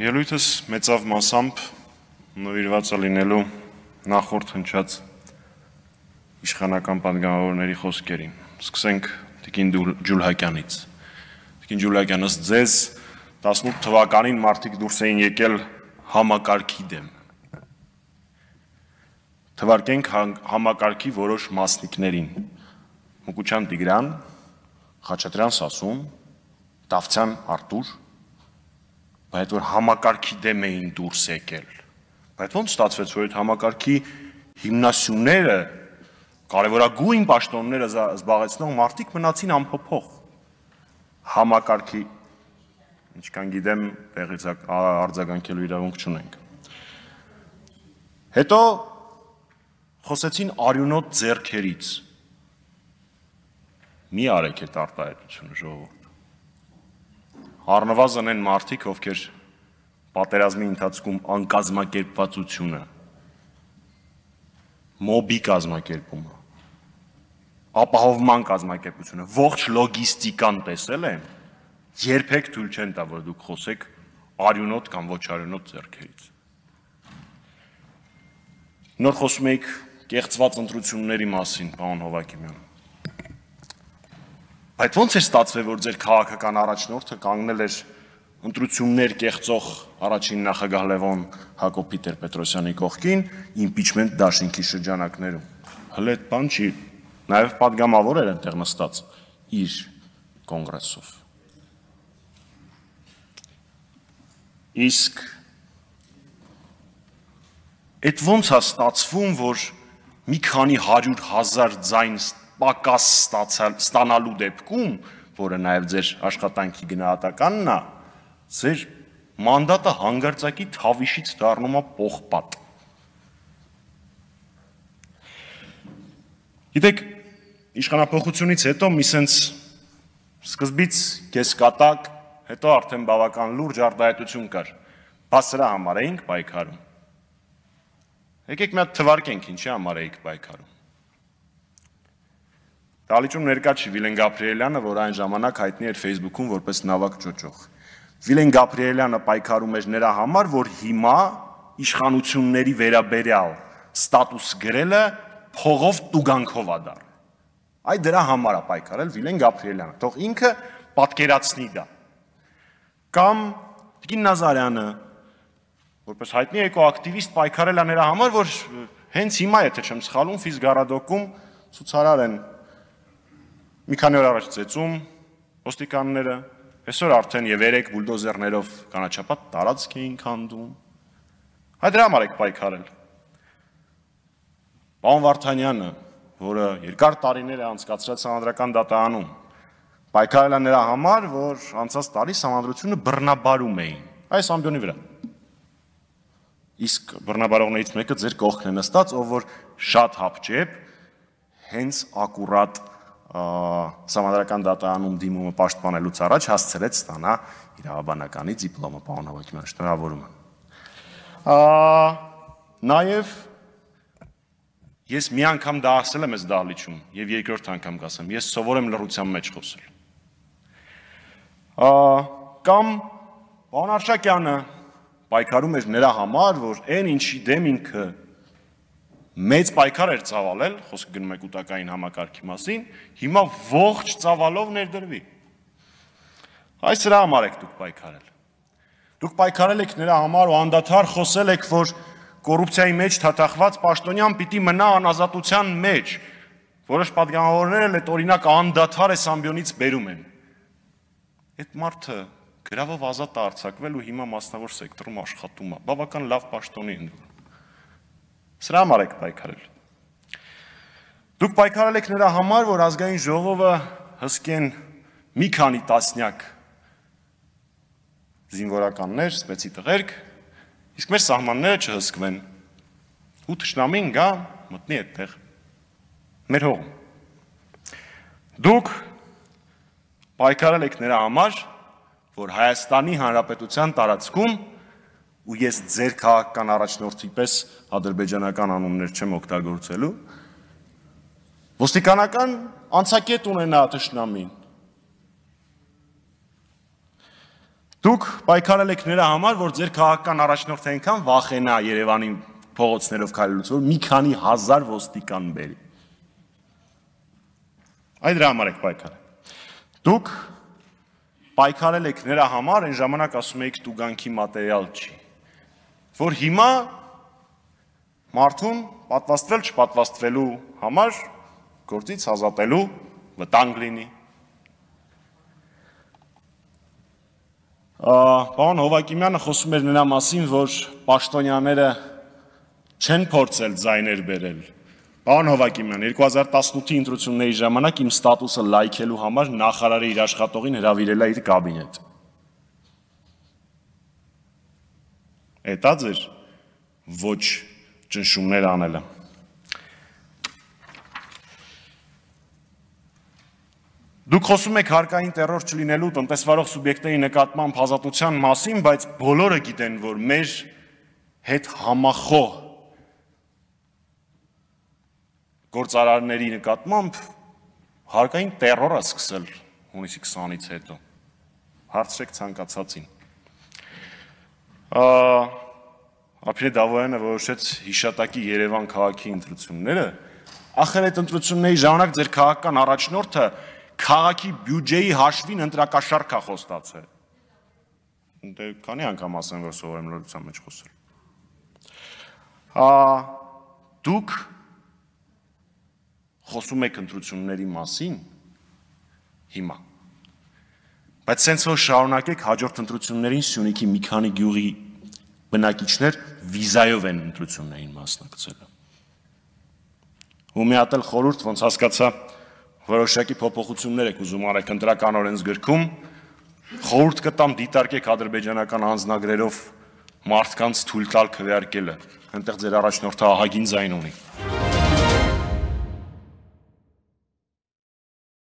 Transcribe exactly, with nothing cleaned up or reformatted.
Ելույթս մեծավ մասամբ նվիրված է լինելու նախորդ հնչած իշխանական պատգամավորների խոսքերին։ Սկսենք Տիկին Ջուլհակյանից։ Տիկին Ջուլհակյան, ըստ ձեզ տասնութ թվականին մարդիկ դուրս էին եկել համակարգի դեմ։ Թվարկենք համակարգի որոշ մասնիկներին։ Մուկուչյան Տիգրան, Խաչատրյան Սասուն, Դավթյան Արտուր, բայց որ համակարգի դեմ էին դուրս եկել։ Բայց ոնց ստացվեց, որ այդ համակարգի հիմնասյուները, կարևորագույն պաշտոնները զբաղեցնող մարդիկ մնացին անփոփոխ։ Համակարգի, ինչքան գիտեմ, տեղից արձագանքելու իրավունք չունենք։ Հետո խոսեցին արյունոտ ձեռքերից։ Մի արեք այդ արտահայտությունը, ժողովուրդ։ Առնվազն են մարդիկ, ովքեր պատերազմի ընթացքում անկազմակերպվածությունը, մոբի կազմակերպումը, ապահովման կազմակերպությունը, ողջ լոգիստիկան տեսել են, երբեք թույլ չեն տա, որ դուք խոսեք արյունոտ կամ ոչ արյունոտ ձեռքերից։ Նոր խոսում էիք կեղծված ընտրությունների մասին, պարոն Հովհակիմյան։ Բայց ոնց է ստացվել, որ ձեր քաղաքական առաջնորդը կանգնել էր ընտրություններ կեղծող առաջին նախագահ Լևոն Հակոբ Տեր-Պետրոսյանի կողքին իմպիչմենտ դաշինքի շրջանակներում։ Հələ այդ բան չի, նաև պատգամավոր էր այնտեղ նստած իր կոնգրեսով։ Իսկ այդ ոնց է ստացվում, որ մի քանի հարյուր հազար ձայն պակաս ստանալու դեպքում, որը նաև ձեր աշխատանքի գնահատականն է, ձեր մանդատը հանգարցակի թավիշից դառնում է պողպատ։ Գիտեք, իշխանափոխությունից հետո մի սենց սկզբից կեսկատակ, հետո արդեն բավական լուրջ արտահայտություն կար, բաց սրա համար էինք պայքարում։ Եկեք մի հատ թվարկենք ինչի համար էինք պայքարում։ Դալիճում ներկա չի Վիլեն Գաբրիելյանը, որ այն ժամանակ հայտնի էր Facebook-ում որպես նավակ ճոճող։ Վիլեն Գաբրիելյանը պայքարում էր նրա համար, որ հիմա իշխանությունների վերաբերյալ ստատուս գրելը փողով տուգանքով է դառնում։ Այ դրա համար է պայքարել Վիլեն Գաբրիելյանը, թող ինքը պատկերացնի դա։ Կամ Տիկին Նազարյանը, որպես հայտնի էկոակտիվիստ, պայքարել է նրա համար, որ հենց հիմա, եթե չեմ սխալվում, Ֆիզգարադոկում ցուցարար են մի քանի օր առաջ ծեծում ոստիկանները, այսօր արդեն եւ երեք բուլդոզերներով կանաչապատ տարածք էին քանդում։ Հայ դրա համար եք պայքարել։ Պարոն Վարդանյանը, որը երկար տարիներ է անցկացրել Սահմանադրական դատարանում, պայքարել է նրա համար, որ անցած տարի Սահմանադրությունը բռնաբարում էին այս ամբիոնի վրա։ Իսկ բռնաբարողներից մեկը ձեր կողքն է նստած, ով որ շատ հապճեպ հենց ակուրատ Սահմանադրական դատարանում դիմումը պաշտպանելուց առաջ հասցրեց ստանա իրավաբանականի դիպլոմը, պարոն Հովհակիմյան, շնորհավորում եմ։ Նաև ես մի անգամ դա ասել եմ այս դահլիճում եւ երկրորդ անգամ կասեմ, ես սովոր եմ լռության մեջ խոսել։ Կամ պարոն Արշակյանը պայքարում էր նրա համար, որ այն ինչի դեմ ինքը մեծ պայքար էր ծավալել, խոսքը գնում է կൂട്ടակային համակարգի մասին, հիմա ողջ ծավալով ներդրվի։ Այս սրա համար եք դուք պայքարել։ Դուք պայքարել եք նրա համար ու անդադար խոսել եք, որ կոռուպցիայի մեջ թաթախված պաշտոնյան պիտի մնա անազատության մեջ, որոշ պատգամավորներ էլ այդ օրինակ անդադար այս ամբիոնից բերում են։ Այդ մարդը գրավով ազատ է արձակվել ու հիմա մասնավոր սեկտորում աշխատում է, բավական լավ պաշտոնի ընտրում։ Սրա համար եք պայքարել։ Դուք պայքարել եք նրա համար, որ ազգային ժողովը հսկեն մի քանի տասնյակ զինվորականներ, սպեցի տղերք, իսկ մեր սահմանները չհսկվեն։ Ու թշնամին գա, մտնի այդտեղ մեր հողում։ Դուք պայքարել եք նրա համար, որ Հայաստանի Հանրապետության տարածքում ու ես ձեր քաղաքական առաջնորդի պես ադրբեջանական անուններ չեմ օգտագործելու, ոստիկանական անցակետ ունենա թշնամին, Դուք պայքարել եք նրա համար, որ ձեր քաղաքական առաջնորդը այնքան վախենա Երևանի փողոցներով քայլելուց, որ մի քանի հազար ոստիկան բերի։ Այդ դրա համար եք պայքարել։ Դուք պայքարել եք նրա համար, այն ժամանակ ասում եք տուգանքի մատերիալ չի, որ հիմա մարդուն պատվաստվել չպատվաստվելու համար գործից ազատելու վտանգ լինի։ Պարոն Հովակիմյանը խոսում էր նրա մասին, որ պաշտոնյաները չեն փորձել ձայներ բերել։ Պարոն Հովակիմյան, երկու հազար տասնութի ընտրությունների ժամանակ իմ ստատուսը լայքելու համար նախարարը իր աշխատողին հրավիրել է իր կաբինետ։ Էդ է ձեր ոչ ճնշումներ անելը։ Դուք խոսում եք հարկային տերոր չլինելու տնտեսվարող սուբյեկտների նկատմամբ ազատության մասին, բայց բոլորը գիտեն, որ մեր հետ համախոհ գործարարների նկատմամբ հարկային տերոր է սկսել հունիսի քսանից հետո։ Հարցրեք ցանկացածին։ Ափիրե Դավոյանը որոշեց հիշատակի Երևան քաղաքի ընտրությունները, ախր այդ ընտրությունների ժամանակ ձեր քաղաքական առաջնորդը քաղաքի բյուջեի հաշվին ընտրակաշառք է խոստացել։ Դե քանի անգամ ասեմ, որ սովորեմ լրության մեջ խոսել։ Դուք խոսում եք ընտրությունների մասին հիմա, բայց սենց որ շարունակեք հաջորդ ընտրություններին Սյունիքի մի քանի գյուղի բնակիչներ վիզայով են ընտրություններին մասնակցել։ Ու մի հատ էլ խորհուրդ, ոնց հասկացա, որոշակի փոփոխություններ եք ուզում արեք ընտրական օրենսգրքում, խորհուրդ կտամ դիտարկեք ադրբեջանական անձնագրերով մարդկանց թույլ տալ քվեարկելը, այնտեղ ձեր առաջնորդը ահագին ձայն ունի։